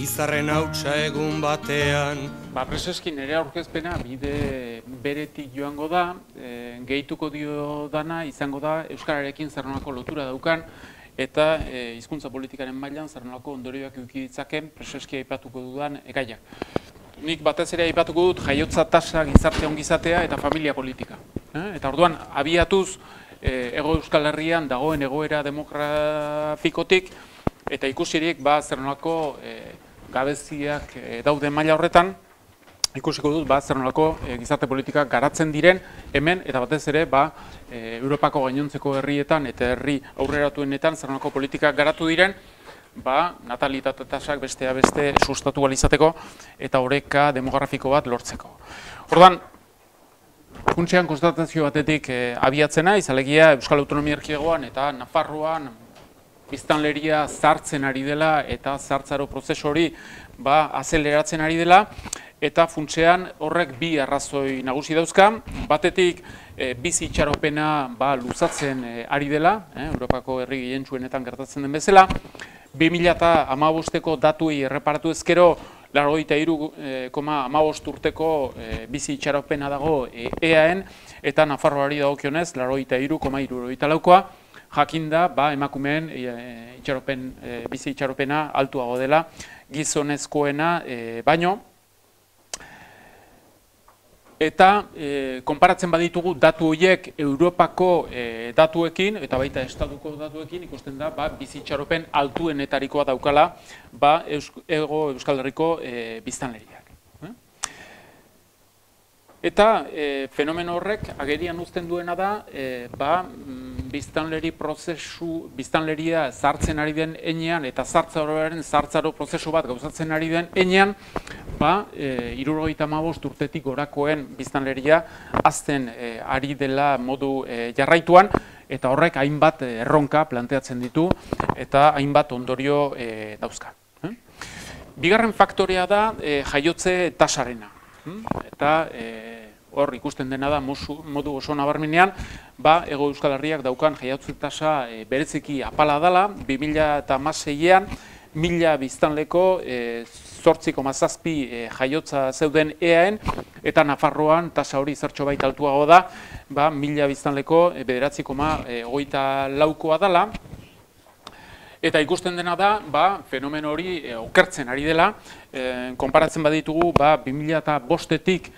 Izarren hautsa egun batean. Preseski nire aurkezpena bide beretik joango da, gehituko dio dana izango da Euskararekin zer nolako lotura daukan eta hizkuntza politikaren mailan zer nolako ondorioak eduki ditzaken preseski aipatuko dudan gaiak. Nik batez ere aipatuko dut jaiotza tasa, gizarte ongizatea eta familia politika. Eta orduan abiatuz Hego Euskal Herrian dagoen egoera demografikotik eta ikusirik zer nolako gabeziak daude maila horretan, ikusiko dut zer nolako gizarte politika garatzen diren hemen eta batez ere Europako gainontzeko herrietan eta herri aurreratuenetan zer nolako politika garatu diren natalitate tasak bestea beste sustatu ahal izateko eta oreka demografiko bat lortzeko. Orduan, funtsean konstatazio batetik abiatzen naiz, alegia Euskal Autonomia Erkidegoan eta Nafarroan biztanleria zartzen ari dela eta zartzaro prozesu hori azeleratzen ari dela eta funtsean horrek bi arrazoi nagusi dauzka. Batetik bizi itxaropena luzatzen ari dela, Europako herri gehientsuenetan gertatzen den bezala. 2015ko datuei erreparatu ezkero 83,15 urteko bizi itxaropena dago EAen eta Nafarroari dagokionez 83,74koa. Jakinda, emakumeen bizi itxaropena altuago dela gizonezkoena baino. Eta konparatzen baditugu datu horiek Europako datuekin eta baita estatuko datuekin ikusten da bizi itxaropen altuenetarikoa daukala Hego Euskal Herriko biztanleriak. Eta fenomeno horrek agerian uzten duena da biztanleria zartzen ari den enean eta zartzaro prozesu bat gauzatzen ari den enean 75 urtetik gorakoen biztanleria hazten ari dela modu jarraituan eta horrek hainbat erronka planteatzen ditu eta hainbat ondorio dauzka. Bigarren faktorea da jaiotze tasarena. Eta hor ikusten dena da modu oso nabarmenean Hego Euskal Herriak daukan jaiotze tasa bereziki apala dela. 2016an 1000 biztanleko 8,7 jaiotza zeuden EAen eta Nafarroan tasa hori zertxo baita altuago da 1000 biztanleko 9,24koa dela. Eta ikusten dena da, fenomeno hori okertzen ari dela, konparatzen baditugu 2005etik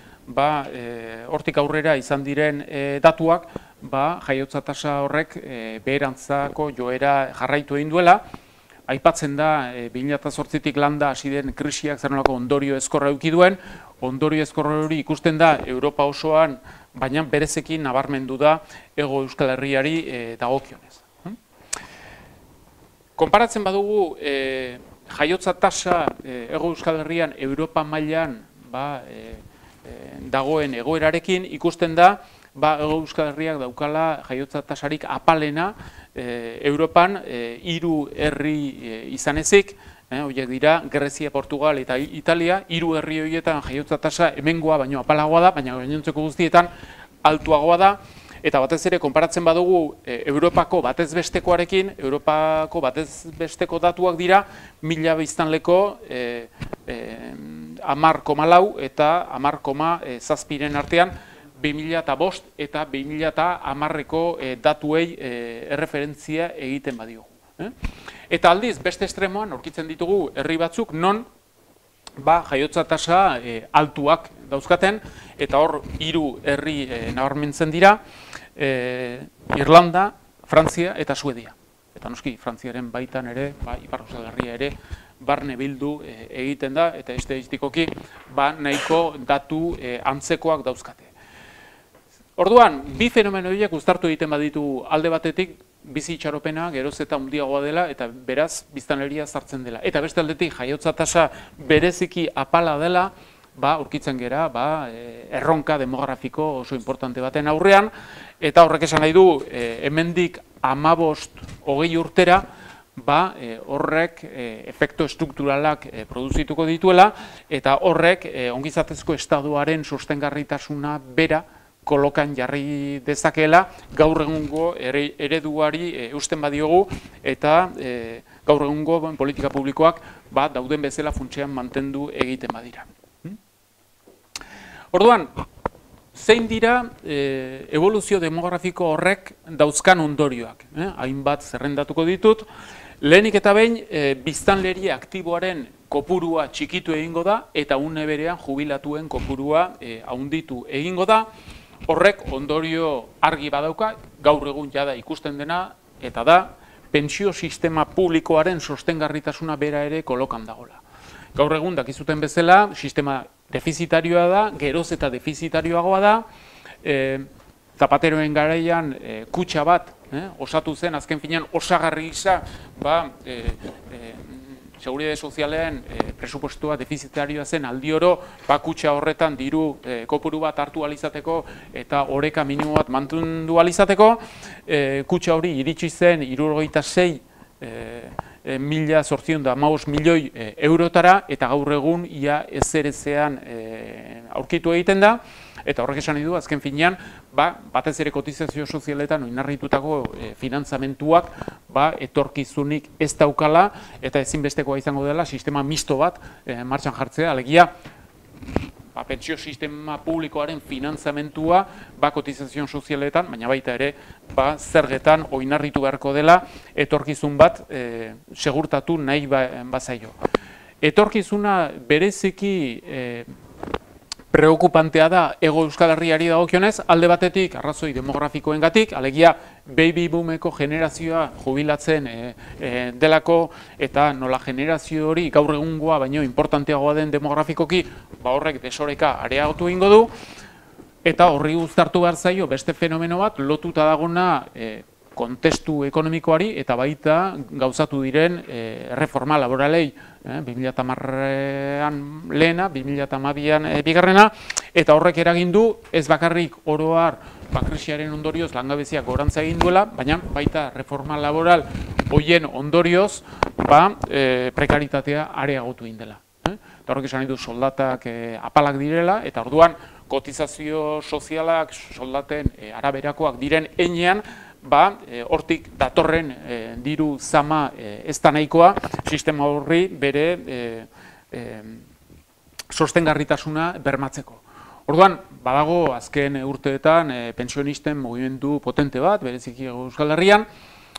hortik aurrera izan diren datuak, jaiotza tasa horrek beherantzako joera jarraitu egin duela. Aipatzen da 2008etik landa hasi den krisiak zer nolako ondorio ezkorra eduki duen, ondorio ezkorra hori ikusten da Europa osoan, baina berezekin nabarmendu da Hego Euskal Herriari dagokionez. Konparatzen badugu jaiotza tasa Hego Euskal Herrian Europa mailan dagoen egoerarekin ikusten da Hego Euskal Herriak daukala jaiotza tasarik apalena Europan 3 herri izan ezik, horiek dira Grezia, Portugal eta Italia, 3 herri horietan jaiotza tasa hemengoa baino apalagoa da, baina gainontzeko guztietan altuagoa da. Eta batez ere, konparatzen badugu Europako batez bestekoarekin, Europako batez besteko datuak dira 1000 biztanleko 10,4 eta 10,7 artean 2005 eta 2010ko datuei erreferentzia egiten badiogu. Eta aldiz, beste estremoan aurkitzen ditugu herri batzuk non jaiotza tasa altuak dauzkaten eta hor 3 herri nabarmentzen dira, Irlanda, Frantzia eta Suedia. Eta noski, Frantziaren baitan ere, Ipar Euskal Herria ere, barne bildu egiten da, eta estatistikoki nahiko datu antzekoak dauzkate. Orduan, bi fenomeno horiek uztartu egiten baditu alde batetik, bizi itxaropena geroz eta handiagoa dela eta beraz biztanleria zartzen dela. Eta beste aldetik jaiotza tasa bereziki apala dela, aurkitzen gera erronka demografiko oso importante baten aurrean, eta horrek esan nahi du hemendik 15-20 urtera horrek efektu estrukturalak produzituko dituela eta horrek ongizatezko estaduaren sostengarritasuna bera kolokan jarri dezakeela gaur egungo ereduari eusten badiogu eta gaur egungo politika publikoak dauden bezala funtsean mantendu egiten badira. Orduan, zein dira eboluzio demografiko horrek dauzkan ondorioak? Hainbat zerrendatuko ditut. Lehenik eta behin, biztanleri aktiboaren kopurua txikitu egingo da eta une berean jubilatuen kopurua handitu egingo da. Horrek ondorio argi badauka, gaur egun jada ikusten dena, eta da, pentsio sistema publikoaren sostengarritasuna bera ere kolokan dagoela. Gaur egun dakizuten bezala, sistema defizitarioa da, geroz eta defizitarioagoa da, Zapateroen garaian kutxa bat osatu zen, azken finean osagarri gisa, Seguridade Sozialean presupuestua defizitarioa zen aldioro, kutxa horretan diru kopuru bat hartu alizateko eta oreka minimo bat mantendu alizateko, kutxa hori iritsi zen 76.815 milioi eurotara eta gaur egun ia ezerezean aurkitu egiten da. Eta horrek esan du, azken finean, batez ere kotizazio sozialetan oinarritutako finantzamentuak etorkizunik ez daukala eta ezinbestekoa izango dela sistema misto bat martxan jartzea, alegia pentsio sistema publikoaren finantzamentua kotizazio sozialetan, baina baita ere zergetan oinarritu beharko dela etorkizun bat segurtatu nahi bazaio. Etorkizuna bereziki preokupantea da Hego Euskal Herriari dagokionez, alde batetik arrazoi demografikoengatik, alegia baby boomeko generazioa jubilatzen delako eta nola generazio hori gaur egungoa baino importanteagoa den demografikoki, horrek desoreka areagotu egingo du eta horri uztartu behar zaio beste fenomeno bat lotuta dagona kontestu ekonomikoari eta baita gauzatu diren reforma laboralei 2010an lehena, 2012an bigarrena, eta horrek eragin du ez bakarrik oro har krisiaren ondorioz langabeziak gorantza egin duela, baina baita reforma laboral hoien ondorioz prekaritatea areagotu egin dela. Eta horrek esan du soldatak apalak direla, eta orduan kotizazio sozialak soldaten araberakoak diren heinean, hortik datorren diru zama ez da nahikoa, sistema horri bere sostengarritasuna bermatzeko. Orduan, badago azken urteetan pensionisten mugimendu potente bat, bereziki Euskal Herrian,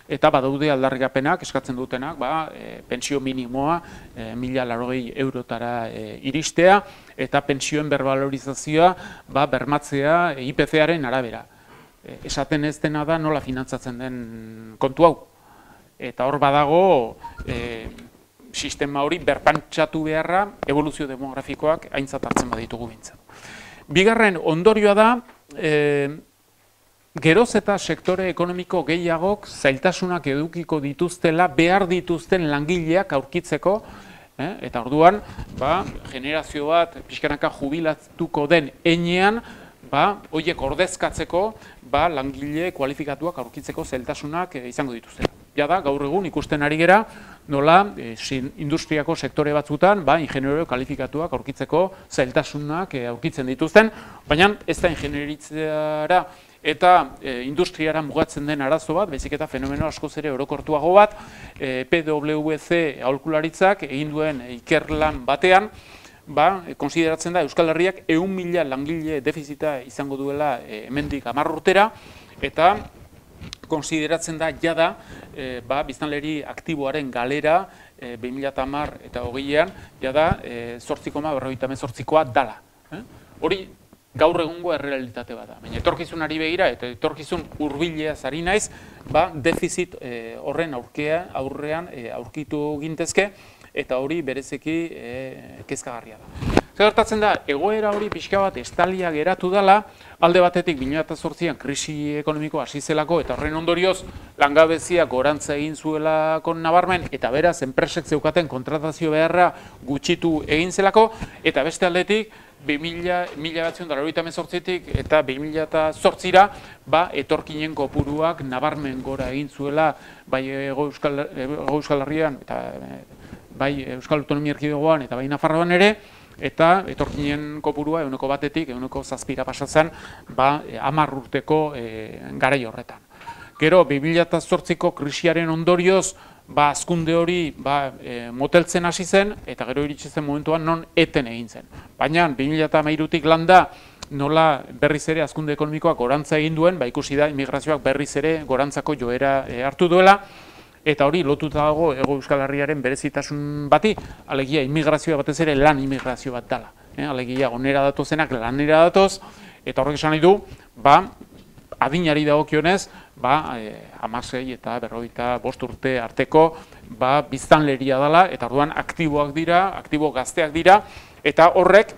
eta badaude aldarrikapenak eskatzen dutenak, pentsio minimoa 1.080 eurotara iristea, eta pentsioen berbalorizazioa bermatzea IPC-aren arabera. Esaten ez dena da nola finantzatzen den kontu hau. Eta hor badago sistema hori berpantsatu beharra eboluzio demografikoak aintzat hartzen baditugu bintzat. Bigarren ondorioa da, geroz eta sektore ekonomiko gehiagok zailtasunak edukiko dituztela behar dituzten langileak aurkitzeko, eta orduan generazio bat pixkanaka jubilatuko den heinean, horiek ordezkatzeko langile kualifikatuak aurkitzeko zailtasunak izango dituztela. Jada, gaur egun ikusten ari gera, nola industriako sektore batzutan ingeniero kualifikatuak aurkitzeko zailtasunak aurkitzen dituzten, baina ez da ingenieritzara eta industriara mugatzen den arazo bat, baizik eta fenomeno askoz ere orokortuago bat, PwC aholkularitzak egin duen ikerlan batean, konsideratzen da Euskal Herriak 100.000 langile defizita izango duela hemendik 10 urtera, eta konsideratzen da jada biztanleri aktiboaren galera 2010 eta 2020an jada 8,58koa dala. Hori gaur egungo errealitate bat da. Baina etorkizunari begira eta etorkizun hurbileaz ari naiz, defizit horren aurrean aurkitu gintezke, eta hori berezeki kezkagarria da. Zer gertatzen da, egoera hori pixka bat estalia geratu dela, alde batetik 2008an krisi ekonomiko hasi zelako, eta horren ondorioz langabeziak gorantza egin zuelako nabarmen, eta beraz enpresek zeukaten kontratazio beharra gutxitu egin zelako, eta beste aldetik 1998tik eta 2008ra etorkinen kopuruak nabarmen gora egin zuela bai Hego Euskal Herrian eta bai Euskal Autonomia Erkidegoan eta bai Nafarroan ere, eta etorkinen kopurua 1%tik 1,7 pasatzen 10 urteko garai horretan. Gero 2008ko krisiaren ondorioz hazkunde hori moteltzen hasi zen, eta gero iritsi zen momentuan non eten egin zen. Baina 2013tik landa nola berriz ere hazkunde ekonomikoak gorantza egin duen, ikusi da immigrazioak berriz ere gorantzako joera hartu duela, eta hori lotuta dago Hego Euskal Herriaren berezitasun bati, alegia immigrazioa batez ere lan immigrazio bat dela. Alegia onera datozenak lanera datoz, eta horrek esan nahi du, adinari dagokionez, 16 eta 55 urte arteko biztanleria dela, eta orduan aktiboak dira, aktibo gazteak dira, eta horrek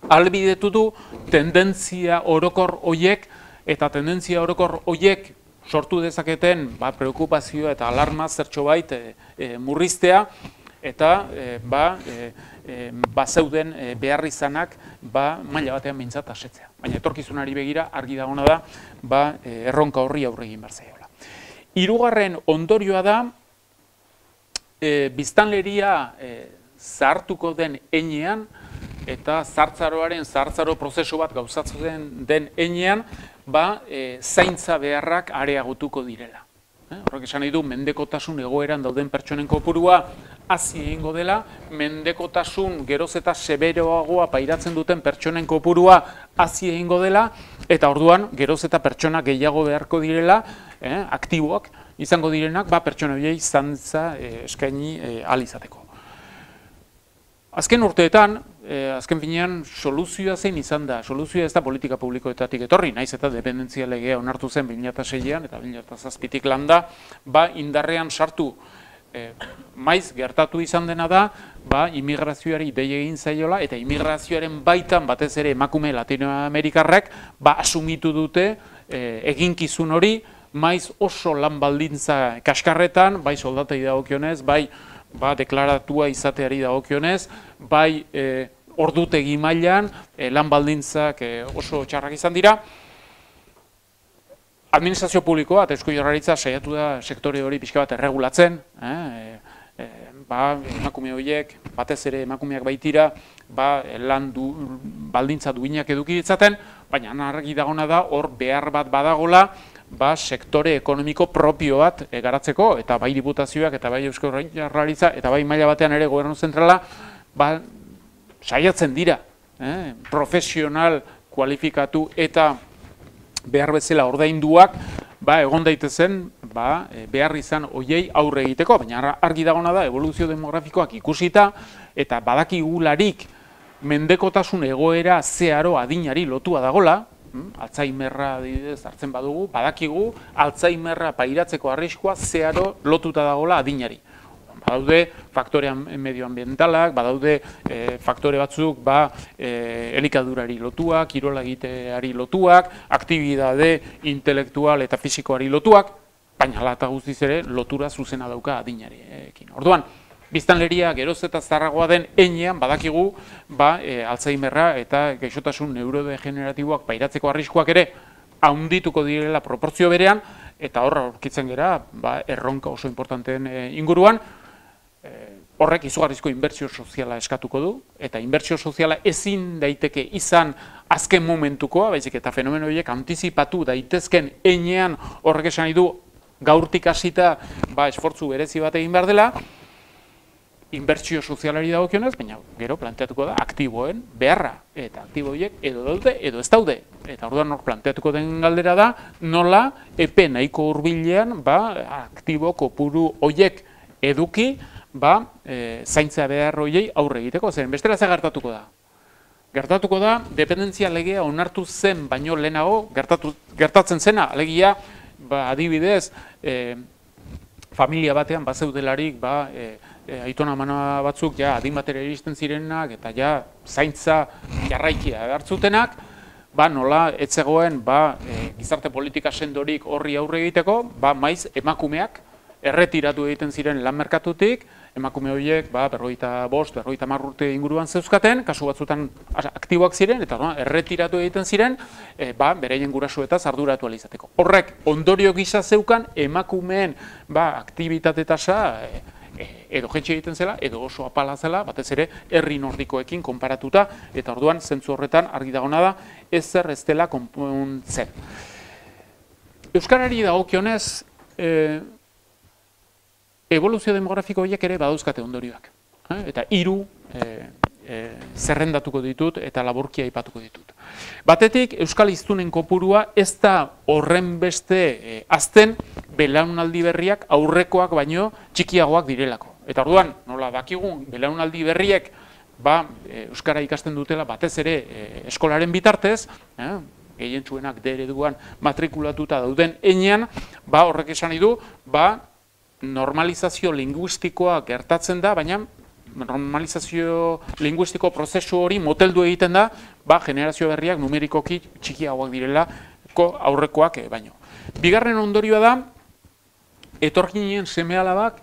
ahalbidetu du tendentzia orokor hoiek, eta tendentzia orokor hoiek sortu dezaketen preokupazioa eta alarma zertxo bait murriztea, eta zeuden beharrizanak maila batean behintzat asetzea. Baina etorkizunari begira argi dagona da erronka horri aurre egin behar zaiola. Hirugarren ondorioa da biztanleria zahartuko den heinean eta zahartzaro prozesu bat gauzatzen den heinean zaintza beharrak areagotuko direla. Horrek esan nahi du, mendekotasun egoeran dauden pertsonen kopurua hazi egingo dela, mendekotasun geroz eta seberoagoa pairatzen duten pertsonen kopurua hazi egingo dela, eta orduan geroz eta pertsona gehiago beharko direla, aktiboak izango direnak, pertsona horiei zantza eskaini ahal izateko. Azken urteetan, azken finean, soluzioa zein izan da. Soluzioa ez da politika publikoetatik etorri, naiz eta dependentzia legea onartu zen 2006an eta 2007tik landa, indarrean sartu. Maiz gertatu izan dena da, immigrazioari dei egin zaiola, eta immigrazioaren baitan batez ere emakume Latinoamerikarrek asumitu dute eginkizun hori, maiz oso lan baldintza kaskarretan, bai soldatei dagokionez, bai deklaratua izateari dagokionez, bai ordutegi mailan lan baldintzak oso txarrak izan dira. Administrazio publikoa eta Eusko Jaurlaritza saiatu da sektore hori pixka bat erregulatzen, emakume horiek, batez ere emakumeak baitira, lan baldintza duinak eduki ditzaten, baina argi dagona da hor behar bat badagola, sektore ekonomiko propio bat garatzeko, eta bai diputazioak, eta bai Eusko Jaurlaritza, eta bai maila batean ere gobernu zentrala, saiatzen dira, profesional, kualifikatu eta behar bezala ordainduak, egon daitezen, behar izan hoiei aurre egiteko, baina argi dagona da, evoluzio demografikoak ikusita, eta badakigularik mendekotasun egoera zeharo adinari lotua dagola, Alzheimerra adibidez hartzen badugu, badakigu Alzheimerra pairatzeko arriskua zeharo lotuta dagola adinari. Badaude faktore medioambientalak, badaude faktore batzuk elikadurari lotuak, kirola egiteari lotuak, aktibitate intelektual eta fisikoari lotuak, baina hala eta guztiz ere lotura zuzena dauka adinarekin. Orduan, biztanleria geroz eta zaharragoa den heinean badakigu Alzheimerra eta gaixotasun neurodegeneratiboak pairatzeko arriskuak ere handituko direla proportzio berean, eta horra aurkitzen gera erronka oso importanteen inguruan. Horrek izugarrizko inbertsio soziala eskatuko du, eta inbertsio soziala ezin daiteke izan azken momentukoa, baizik eta fenomeno horiek antizipatu daitezken heinean horrek esan nahi du gaurtik hasita esfortzu berezi bat egin behar dela, inbertsio sozialari dagokionez, baina gero planteatuko da aktiboen beharra, eta aktibo horiek edo daude edo ez daude. Eta orduan hor planteatuko den galdera da, nola epe nahiko hurbilean aktibo kopuru horiek eduki, zaintza behar horiei aurre egiteko, zeren bestela ze gertatuko da. Gertatuko da, dependentzia legea onartu zen baino lehenago, gertatzen zena, alegia, adibidez, familia batean bazeudelarik, aitona amana batzuk adin batera iristen zirenak, eta zaintza jarraikia hartzutenak, nola etzegoen gizarte politika sendorik horri aurre egiteko, maiz emakumeak erretiratu egiten ziren lan merkatutik, emakume horiek 45, 50 urte inguruan zeuzkaten, kasu batzutan aktiboak ziren, eta erretiratu egiten ziren, beraien gurasuetaz arduratu ahal izateko. Horrek ondorio gisa zeukan emakumeen aktibitate tasa edo jetxe egiten zela, edo oso apala zela, batez ere herri nordikoekin konparatuta, eta orduan zentzu horretan argi dagona da, ezer ez dela konpontzen. Euskarari dagokionez, evoluzio demografiko horiek ere badauzkate ondorioak. Eta 3 zerrendatuko ditut eta laburkia aipatuko ditut. Batetik, euskal hiztunen kopurua ez da horren beste azten belaunaldi berriak aurrekoak baino txikiagoak direlako. Eta orduan, nola dakigun, belaunaldi berriek euskara ikasten dutela batez ere eskolaren bitartez, gehientsuenak D ereduan matrikulatuta dauden heinean, horrek esan nahi du, normalizazio linguistikoa gertatzen da, baina normalizazio linguistiko prozesu hori moteldu egiten da, generazio berriak numerikoki txikiagoak direlako aurrekoak baino. Bigarren ondorioa da, etorkinen seme-alabak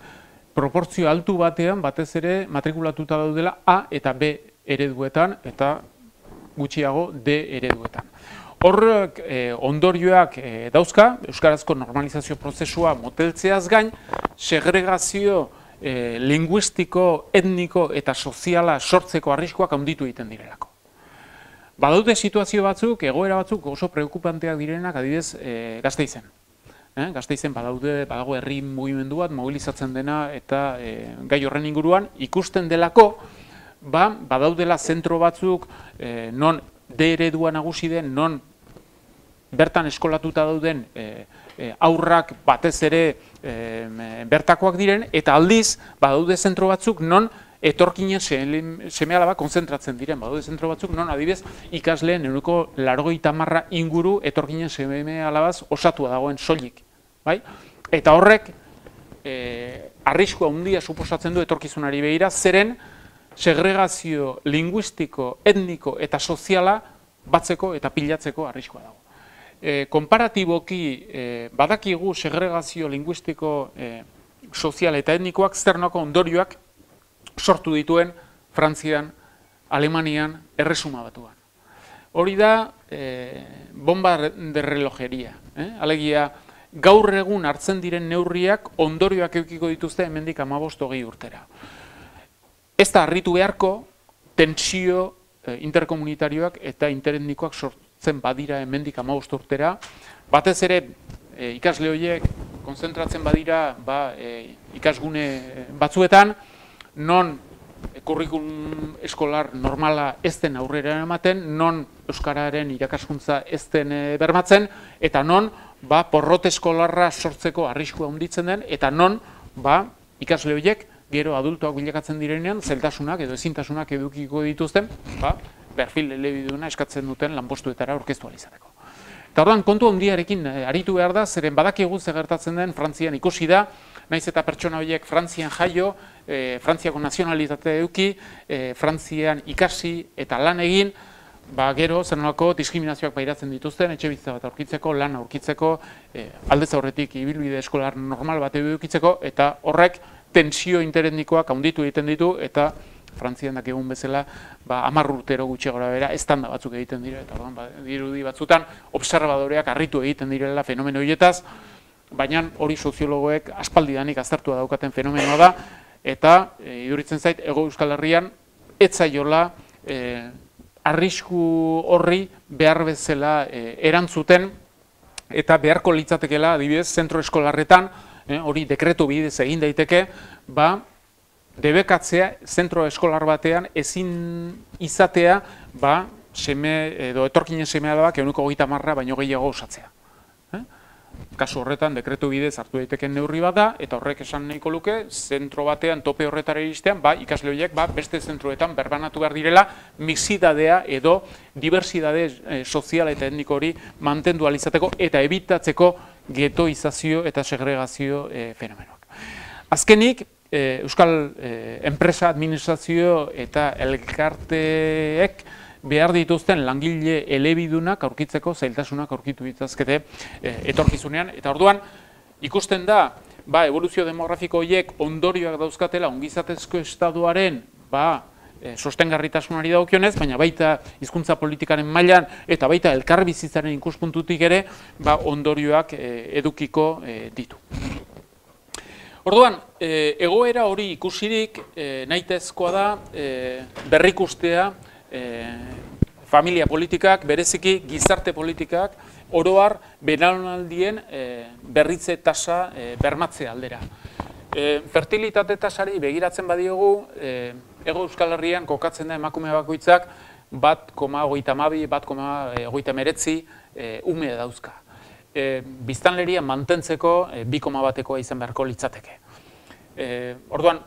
proportzio altu batean batez ere matrikulatuta daudela A eta B ereduetan eta gutxiago D ereduetan. Horrek ondorioak dauzka, euskarazko normalizazio prozesua moteltzeaz gain, segregazio linguistiko, etniko eta soziala sortzeko arriskoak handitu egiten direlako. Badaude situazio batzuk, egoera batzuk oso preokupanteak direnak adibidez Gasteizen. Gasteizen badago herri mugimendu bat mobilizatzen dena eta gai horren inguruan ikusten delako badaudela zentro batzuk non D eredua nagusi den, non bertan eskolatuta dauden aurrak batez ere bertakoak diren, eta aldiz badaude zentro batzuk non etorkinen seme-alabak konzentratzen diren. Badaude zentro batzuk non adibidez ikasleen 90% inguru etorkinen seme-alabaz osatua dagoen soilik. Eta horrek arriskua handia suposatzen du etorkizunari begira, zeren segregazio linguistiko, etniko eta soziala batzeko eta pilatzeko arriskua dago. Konparatiboki badakigu segregazio linguistiko, sozial eta etnikoak zernoko ondorioak sortu dituen Frantzian, Alemanian, Erresuma Batuan. Hori da bomba de relojeria. Alegia, gaur egun hartzen diren neurriak ondorioak edukiko dituzte hemendik 15-20 urtera. Ez da harritu beharko tentsio interkomunitarioak eta interetnikoak sortzen badira hemendik 15 urtera. Batez ere ikasle horiek konzentratzen badira ikasgune batzuetan, non kurrikulum eskolar normala ez den aurrera ematen, non euskararen irakaskuntza ez den bermatzen, eta non porrot eskolarra sortzeko arriskua handitzen den, eta non ikasle horiek gero adultoak bilakatzen direnean, zeltasunak edo ezintasunak edukiko dituzten, perfil elebiduna eskatzen duten lanpostuetara aurkeztu ahal izateko. Eta orduan, kontu handiarekin aritu behar da, zeren badakigu zer gertatzen den Frantzian ikusi da, naiz eta pertsona horiek Frantzian jaio, Frantziako nazionalitatea eduki, Frantzian ikasi eta lan egin, gero zer nolako diskriminazioak pairatzen dituzten, etxebizitza bat aurkitzeko, lan aurkitzeko, aldez aurretik ibilbide eskolar normal bat edukitzeko, eta horrek tensio interetnikoak handitu egiten ditu, eta Frantzian dakigun bezala 10 urtero gutxi gora bera estanda batzuk egiten dira, eta dirudi batzutan observadoreak harritu egiten direla fenomeno horietaz, baina hori soziologoek aspaldidanik aztertua daukaten fenomenoa da, eta iduritzen zait, Hego Euskal Herrian ez zaiola arrisku horri behar bezala erantzuten, eta beharko litzatekela, adibidez, zentro eskolarretan, hori dekretu bidez egin daiteke, debekatzea zentro eskolar batean ezin izatea edo etorkinen seme-alabak 30% baino gehiago osatzea. Kasu horretan dekretu bidez hartu daiteken neurri bat da, eta horrek esan nahiko luke, zentro batean tope horretara iristean, ikasle horiek beste zentroetan berbanatu behar direla, mixidadea edo diversidade sozial eta etniko hori mantendu ahal izateko eta ebitatzeko getoizazio eta segregazio fenomenoak. Azkenik, Euskal enpresa, administrazio eta elkarteek behar dituzten langile elebidunak aurkitzeko zailtasunak aurkitu dituzkete etorkizunean. Eta orduan, ikusten da, evoluzio demografiko horiek ondorioak dauzkatela ongizatezko estaduaren sostengarritasunari dagokionez, baina baita hizkuntza politikaren mailan eta baita elkarbizitzaren ikuspuntutik ere ondorioak edukiko ditu. Orduan, egoera hori ikusirik nahitezkoa da berrikustea familia politikak, bereziki gizarte politikak, oroar belaunaldien berritze tasa bermatze aldera. Fertilitate tasari begiratzen badiogu, Hego Euskal Herrian kokatzen da emakume bakoitzak 1,32, 1,39 ume dauzka. Biztanleria mantentzeko 2,1koa izan beharko litzateke. Orduan,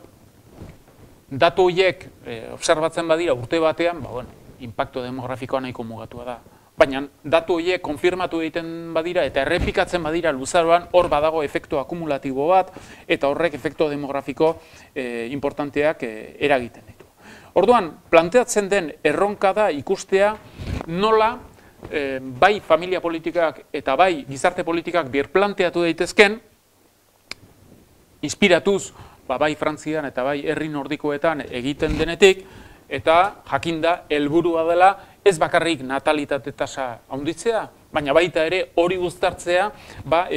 datu horiek obserbatzen badira urte batean, inpaktu demografikoa nahiko mugatua da. Baina datu horiek konfirmatu egiten badira eta errepikatzen badira luzaroan, hor badago efektu akumulatibo bat eta horrek efektu demografiko importanteak eragiten ditu. Orduan, planteatzen den erronka da ikustea nola bai familia politikak eta bai gizarte politikak birplanteatu daitezken, inspiratuz bai Frantzian eta bai herri nordikoetan egiten denetik, eta jakinda helburua dela ez bakarrik natalitate tasa handitzea, baina baita ere hori uztartzea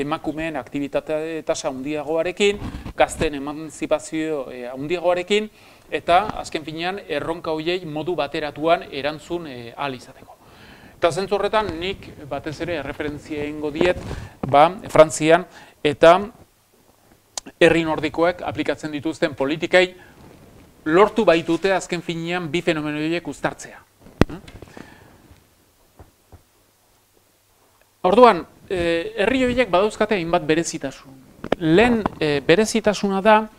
emakumeen aktibitate tasa handiagoarekin, gazteen emantzipazio handiagoarekin, eta azken finean erronka horiei modu bateratuan erantzun ahal izateko. Eta zentzu horretan nik batez ere erreferentzia egingo diet Frantzian eta herri nordikoek aplikatzen dituzten politikai lortu baitute azken finean bi fenomeno horiek uztartzea. Orduan, herri horiek badauzkate hainbat berezitasun. Lehen berezitasuna da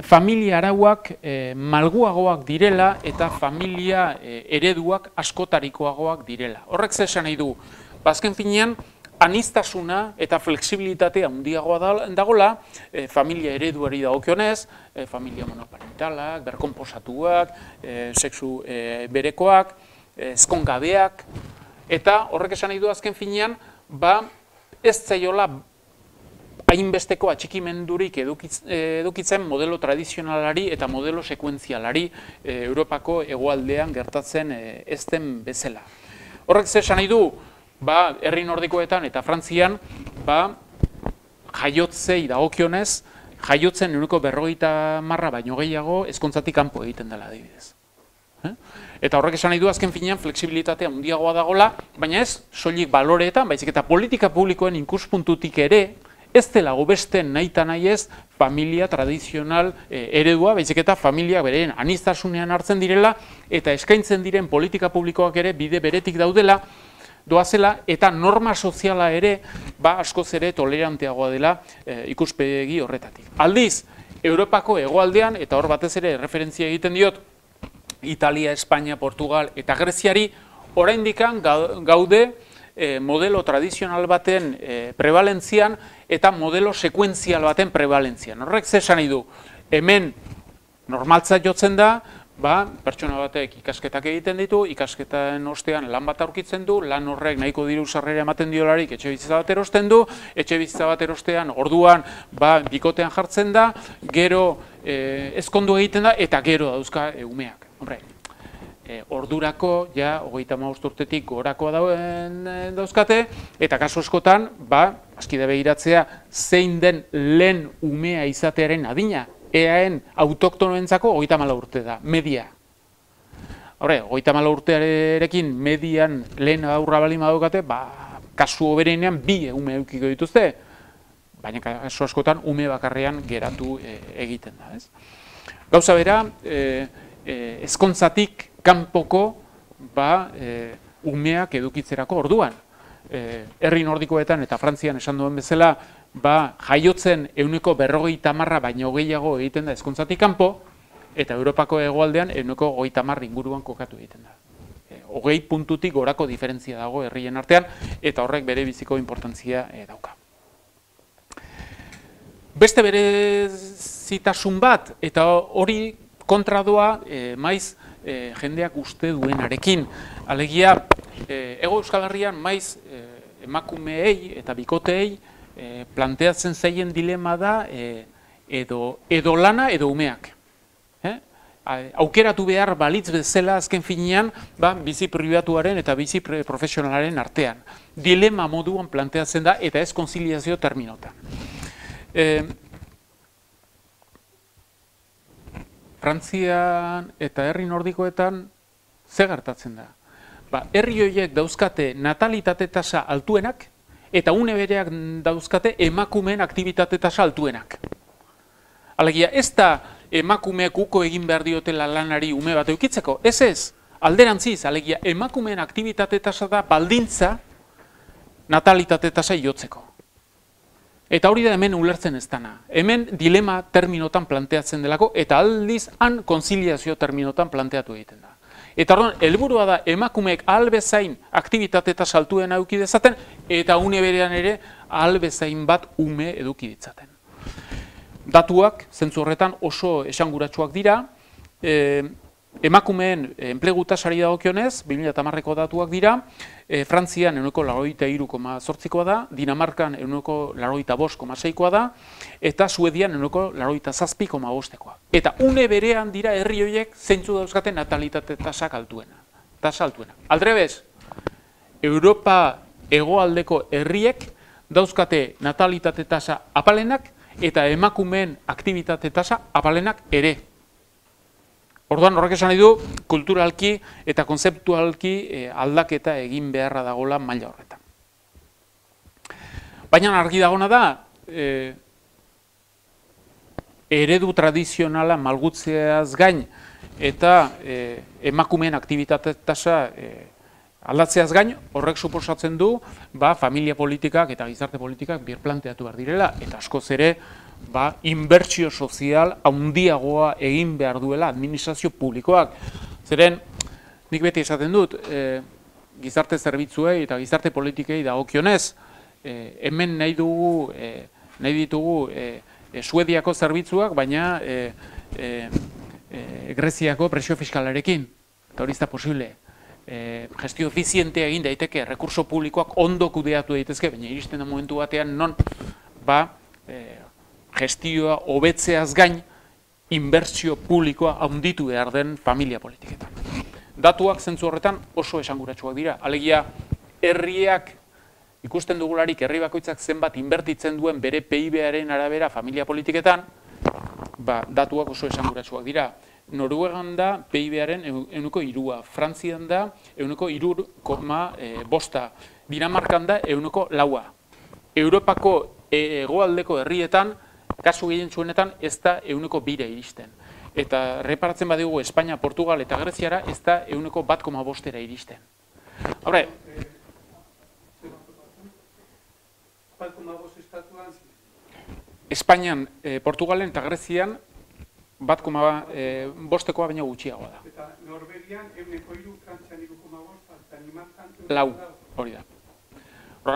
familia arauak malguagoak direla eta familia ereduak askotarikoagoak direla. Horrek zer esan nahi du, azken finean aniztasuna eta flexibilitatea handiagoa dagoela, familia ereduari dagokionez, familia monoparentalak, berkonposatuak, sexu berekoak, ezkongabeak, eta horrek esan nahi du azken finean, ez zaiola hainbesteko atxikimendurik edukitzen modelo tradizionalari eta modelo sekuentzialari Europako hegoaldean gertatzen ez den bezala. Horrek zer esan nahi du, herri nordikoetan eta Frantzian, jaiotzei dagokionez, jaiotzen 40% baino gehiago ezkontzatik kanpo egiten dela adibidez. Eta horrek esan nahi du azken finean flexibilitatea handiagoa dagola, baina ez soilik baloreetan, baizik eta politika publikoen ikuspuntutik ere, ez dela hobesten nahita nahi ez familia tradizional eredua, baizik eta familia beren aniztasunean hartzen direla, eta eskaintzen diren politika publikoak ere bide beretik daudela, doazela, eta norma soziala ere, askoz ere toleranteagoa dela ikuspegi horretatik. Aldiz, Europako hegoaldean, eta hor batez ere referentzia egiten diot, Italia, Espainia, Portugal eta Greziari, oraindikan gaude modelo tradizional baten prebalentzian eta modelo sekuentzial baten prebalentzian. Horrek zer esan nahi du, hemen normaltzat jotzen da, pertsona batek ikasketak egiten ditu, ikasketaren ostean lan bat aurkitzen du, lan horrek nahiko diru sarrera ematen diolarik etxebizitza bat erosten du, etxebizitza bat erostean orduan bikotean jartzen da, gero ezkondu egiten da eta gero dauzka umeak. Ordurako, 35 urtetik gorakoa dauzkate, eta kasu askotan, askide begiratzea, zein den lehen umea izatearen adina, eaen autoktonoentzako 34 urte da, media. 34 urtearekin median lehen aurra bali madukate, kasu hoberenean 2 ume eukiko dituzte, baina kasu askotan ume bakarrean geratu egiten da. Gauza bera, ezkontzatik kanpoko umeak edukitzerako orduan. Herri nordikoetan eta Frantzian esan duen bezala, jaiotzen 40% baino gehiago egiten da ezkontzatik kanpo, eta Europako hegoaldean 30% inguruan kokatu egiten da. 20 puntutik gorako diferentzia dago herrien artean, eta horrek bere biziko importantzia dauka. Beste berezitasun bat, eta hori kontra doa maiz jendeak uste duenarekin. Alegia, Hego Euskal Herrian maiz emakumeei eta bikoteei planteatzen zaien dilema da edo lana edo umeak. Aukeratu behar balitz bezala azken finean bizi pribatuaren eta bizi profesionalaren artean. Dilema moduan planteatzen da eta ez konziliazio terminotan. Frantzian eta herri nordikoetan ze gertatzen da? Herri horiek dauzkate natalitate tasa altuenak eta une bereak dauzkate emakumeen aktibitate tasa altuenak. Alegia, ez da emakumeak uko egin behar diotela lanari ume bat eukitzeko, ez, alderantziz, alegia, emakumeen aktibitate tasa da baldintza natalitate tasa iotzeko. Eta hori da hemen ulertzen ez dana. Hemen dilema terminotan planteatzen delako, eta aldiz han konziliazio terminotan planteatu egiten da. Eta orduan, helburua da emakumeek ahal bezain aktibitate tasa altuen eduki dezaten, eta une berean ere ahal bezain bat ume eduki ditzaten. Datuak, zentzu horretan, oso esanguratsuak dira. Emakumeen enplegu tasari dagokionez, 2010ko datuak dira, Frantzian 83,8koa da, Dinamarkan 85,6koa da, eta Suedian 87,5koa. Eta une berean dira herri horiek zeintzu dauzkate natalitate tasa altuena. Aldrebez, Europa hegoaldeko herriek dauzkate natalitate tasa apalenak eta emakumeen aktibitate tasa apalenak ere. Orduan horrek esan nahi du, kulturalki eta konzeptualki aldaketa egin beharra dagoela maila horretan. Baina argi dagona da, eredu tradizionala malgutzeaz gain eta emakumeen aktibitate tasa aldatzeaz gain, horrek suposatzen du, familia politikak eta gizarte politikak birplanteatu behar direla, eta askoz ere, inbertsio sozial handiagoa egin behar duela administrazio publikoak. Zeren, nik beti esaten dut, gizarte zerbitzuei eta gizarte politikei dagokionez, hemen nahi ditugu Suediako zerbitzuak, baina Greziako presio fiskalarekin, eta hori ez da posible. Gestio efizientea egin daiteke, rekurso publikoak ondo kudeatu daitezke, baina iristen da momentu batean non gestioa hobetzeaz gain inbertsio publikoa handitu behar den familia politiketan. Datuak zentzu horretan oso esanguratsuak dira. Alegia, herriak ikusten dugularik herri bakoitzak zenbat inbertitzen duen bere PIB-aren arabera familia politiketan, datuak oso esanguratsuak dira. Noruegan da PIB-aren 3%, Frantzian da 3,5%, Dinamarkan da 4%. Europako hegoaldeko herrietan, kasu gehien zuenetan, ez da 2% iristen. Eta reparatzen badigu Espainia, Portugal eta Greziara, ez da 1,5% iristen. Haure, Espainian, Portugalen eta Grezian 1,5%koa baina gutxiagoa da. Eta Norvegian 1,3%, Frantzian 3,5%, Danimarkan 4%, hori da.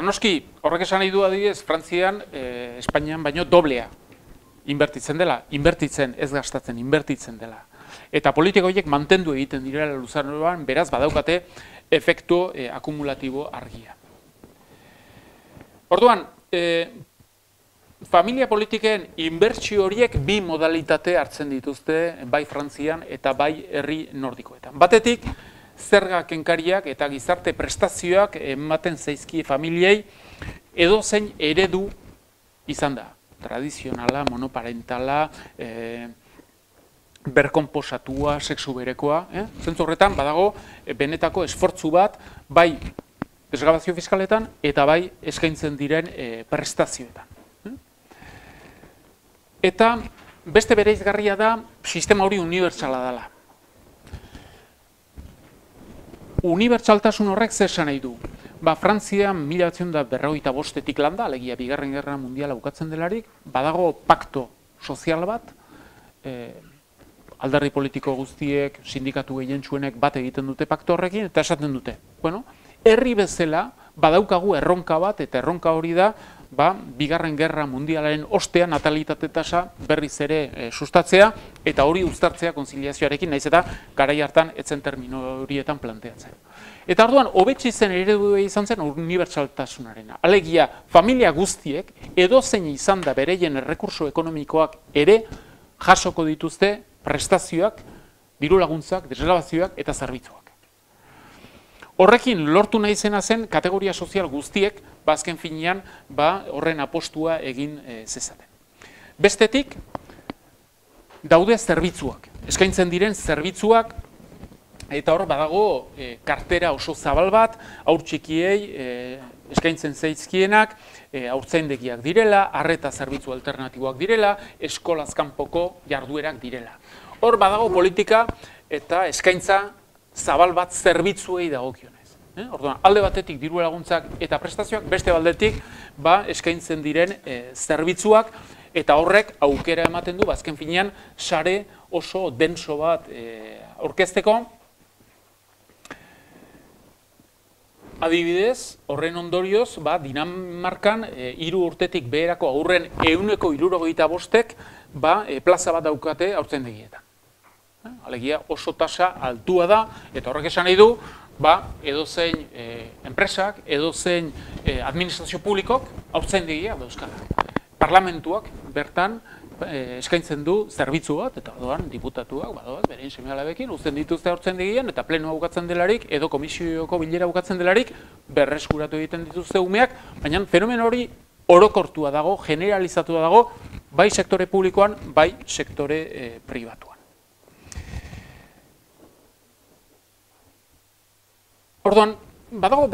Noski, horrek esan nahi du adibidez, Frantzian, Espainian baino doblea inbertitzen dela, ez gastatzen, inbertitzen dela. Eta politiko horiek mantendu egiten direla luzaroan, beraz badaukate efektu akumulatibo argia. Orduan, familia politiken inbertsio horiek bi modalitate hartzen dituzte bai Frantzian eta bai herri nordikoetan. Batetik, zerga kenkariak eta gizarte prestazioak ematen zaizkie familiei edozein eredu izan da. Tradizionala, monoparentala, berkonposatua, sexu berekoa. Zentzu horretan, badago, benetako esfortzu bat, bai desgrabazio fiskaletan eta bai eskaintzen diren prestazioetan. Eta beste bereizgarria da, sistema hori unibertsala dela. Unibertsaltasun horrek zer esan nahi du? Frantzian 1945etik landa, alegia Bigarren Gerra Mundiala bukatzen delarik, badago pakto sozial bat, alderdi politiko guztiek, sindikatu gehientsuenek bat egiten dute pakto horrekin, eta esaten dute. Herri bezala badaukagu erronka bat, eta erronka hori da, Bigarren Gerra Mundialaren ostean natalitate tasa berriz ere sustatzea, eta hori uztartzea konziliazioarekin, naiz eta garai hartan etzen termino horietan planteatzen. Eta orduan, hobetsi zen eredu izan zen unibertsaltasunarena. Alegia, familia guztiek, edozein izan da bereien errekurso ekonomikoak ere jasoko dituzte prestazioak, diru laguntzak, desgrabazioak eta zerbitzuak. Horrekin lortu nahi zena zen kategoria sozial guztiek, azken finean, horren apostua egin zezaten. Bestetik, daude zerbitzuak. eskaintzen diren zerbitzuak, eta hor badago kartera oso zabal bat, haur txikiei eskaintzen zaizkienak, haurtzaindegiak direla, arreta zerbitzu alternatiboak direla, eskolaz kanpoko jarduerak direla. Hor badago politika eta eskaintza zabal bat zerbitzuei dagokionez. Orduan, alde batetik diru laguntzak eta prestazioak, beste aldetik eskaintzen diren zerbitzuak, eta horrek aukera ematen du, azken finean, sare oso denso bat aurkezteko. Adibidez, horren ondorioz, Dinamarkan 3 urtetik beherako haurren 75%ek plaza bat daukate haurtzaindegietan. Alegia oso tasa altua da, eta horrek esan nahi du, edozein enpresak, edozein administrazio publikok haurtzaindegia dauzkala. Parlamentuak bertan eskaintzen du zerbitzu bat, eta orduan diputatuak, berein seme-alabekin, uzten dituzte haurtzaindegian, eta plenoa bukatzen delarik, edo komisioko bilera bukatzen delarik, berreskuratu egiten dituzte umeak, baina fenomeno hori orokortua dago, generalizatua dago, bai sektore publikoan, bai sektore pribatuan. Orduan, badaude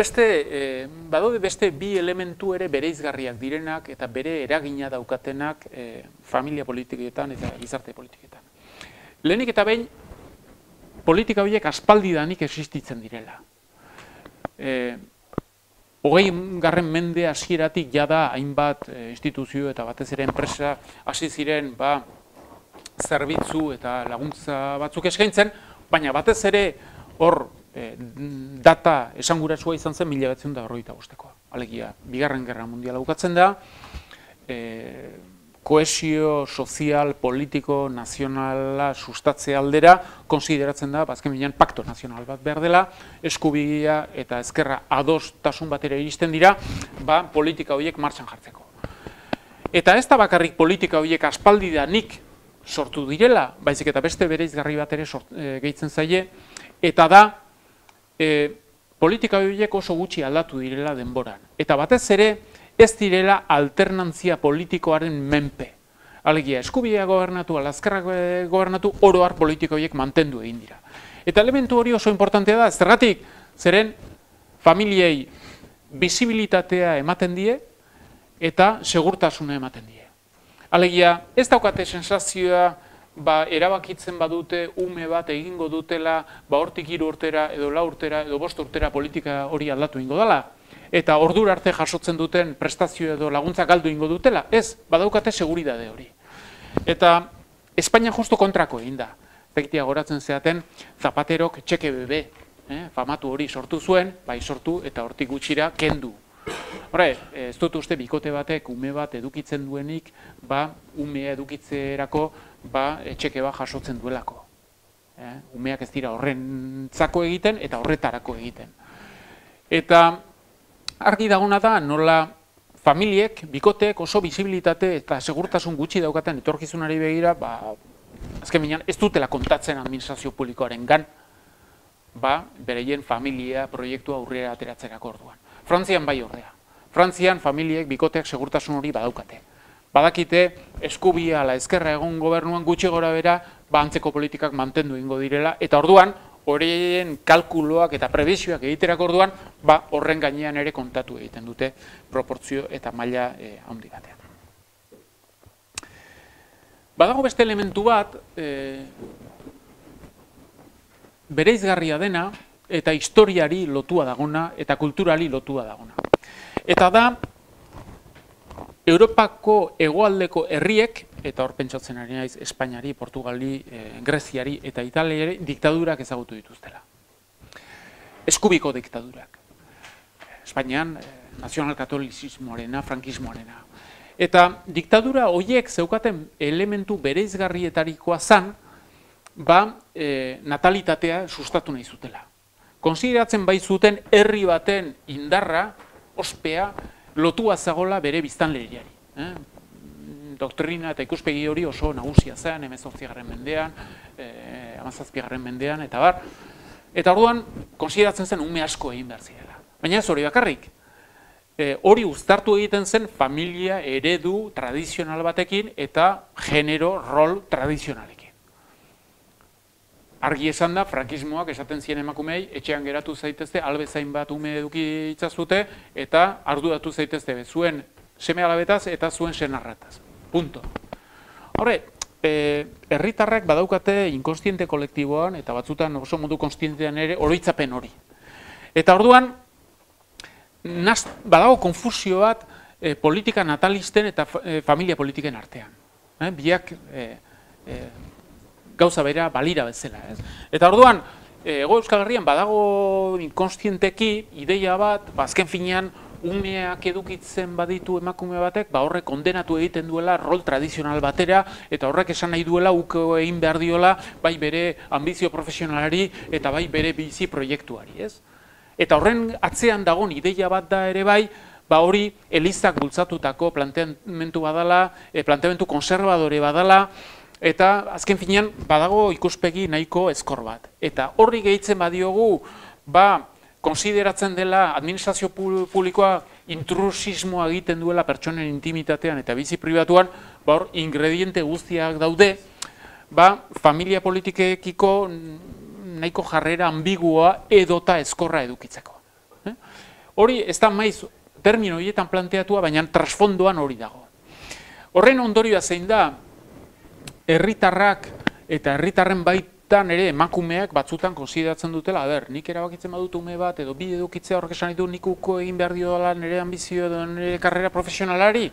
beste bi elementu ere bereizgarriak direnak eta bere eragina daukatenak familia politiketan eta gizarte politiketan. Lehenik eta behin, politika horiek aspaldidanik existitzen direla. 20. mende hasieratik jada hainbat instituzio eta batez ere enpresa hasi ziren zerbitzu eta laguntza batzuk eskaintzen, baina batez ere hor data esanguratsua izan zen 1945. Alegia, Bigarren Gerra Mundiala bukatzen da, kohesio sozial, politiko, nazionala sustatze aldera, konsideratzen da, azken binean, pakto nazional bat behar dela, eskubidea eta ezkerra adostasun batera iristen dira, politika horiek martxan jartzeko. Eta ez da bakarrik politika horiek aspaldidanik sortu direla, baizik eta beste bereizgarri bat ere gehitzen zaie, eta da, politika horiek oso gutxi aldatu direla denboran. Eta batez ere, ez direla alternantzia politikoaren menpe. Alegia, eskubidea gobernatu, alazkerrak gobernatu, oro har politika horiek mantendu egin dira. Eta elementu hori oso importantea da, zergatik, zeren familiei bisibilitatea ematen die, eta segurtasuna ematen die. Alegia, ez daukate sensazioa, erabakitzen badute ume bat egingo dutela, hortik 3 urtera, edo 4 urtera, edo 5 urtera politika hori aldatu ingo dela, eta ordura arte jasotzen duten prestazio edo laguntza galdu ingo dutela, ez, badaukate seguridade hori. Eta Espainia justo kontrako egin da. Zegitea goratzen zeaten, Zapaterok txeke bebe, famatu hori sortu zuen, sortu eta hortik gutxira kendu. Hora, ez dut uste bikote batek ume bat edukitzen duenik, umea edukitzerako txeke bat jasotzen duelako. Umeak ez dira horrentzako egiten eta horretarako egiten. Eta argi dagona da nola familiek, bikotek oso bisibilitate eta segurtasun gutxi daukaten etorkizunari begira, azken binean ez dutela kontatzen administrazio publikoaren gan, bereien familia proiektua aurrera ateratzerako orduan. Frantzian bai ordea. Frantzian familiek, bikoteak segurtasun hori badaukate. Badakite eskubia ala ezkerra egon gobernuan gutxi gora bera, antzeko politikak mantendu ingo direla, eta orduan, horien kalkuloak eta prebizioak egiterako orduan, horren gainean ere kontatu egiten dute proportzio eta maila handi batean. Badago beste elementu bat, bereizgarria dena, eta historiari lotua dagona, eta kulturali lotua dagona. Eta da, Europako hegoaldeko herriek, eta hor pentsatzen ari naiz Espainiari, Portugali, Greziari eta Italiari diktadurak ezagutu dituztela. Eskubiko diktadurak. Espainian, nazional-katolizismoarena, frankismoarena. Eta diktadura horiek zeukaten elementu bereizgarrietarikoa zan, natalitatea sustatu nahi zutela. Konsideratzen bai zuten herri baten indarra, ospea, lotua zagola bere biztanleriari. Doktrina eta ikuspegi hori oso nagusia zen, 18. mendean, 17. mendean, eta bar. Eta orduan, konsideratzen zen ume asko egin behar zirela. Baina ez hori bakarrik. Hori uztartu egiten zen familia eredu tradizional batekin eta genero rol tradizionalekin. argi esan da, frankismoak esaten zien emakumei, etxean geratu zaitezte, albezain bat ume eduki itzazute, eta arduratu zaitezte, zuen seme alabetaz eta zuen senarrataz. Punto. Horre, herritarrak badaukate inkonstiente kolektiboan, eta batzutan oso modu konstientean ere, oroitzapen hori. Eta orduan, badago konfusio bat politika natalisten eta familia politiken artean. Biak gauza bera balira bezala. Eta orduan, Hego Euskal Herrian badago inkonstienteki ideia bat, azken finean, umeak edukitzen baditu emakume batek, horrek kondenatu egiten duela rol tradizional batera, eta horrek esan nahi duela uko egin behar diola, bai bere ambizio profesionalari eta bai bere bizi proiektuari, ez? Eta horren atzean dagoen ideia bat da ere bai, hori elizak bultzatutako planteamendu badala, planteamendu konservadore badala, eta azken finean badago ikuspegi nahiko ezkor bat. Eta horri gehitzen badiogu, konsideratzen dela administrazio publikoa intrusismoa egiten duela pertsonen intimitatean eta bizi pribatuan, hor ingrediente guztiak daude, familia politikekiko nahiko jarrera ambigua edota ezkorra edukitzeko. Hori ez da maiz termino horietan planteatua, baina trasfondoan hori dago. Horren ondorioa zein da, herritarrak eta herritarren baitan ere emakumeak batzutan konsideratzen dutela, nik erabakitzen badut ume bat edo bi edukitzea horrek esan ditu nik uko egin behar diola nire ambizio edo nire karrera profesionalari.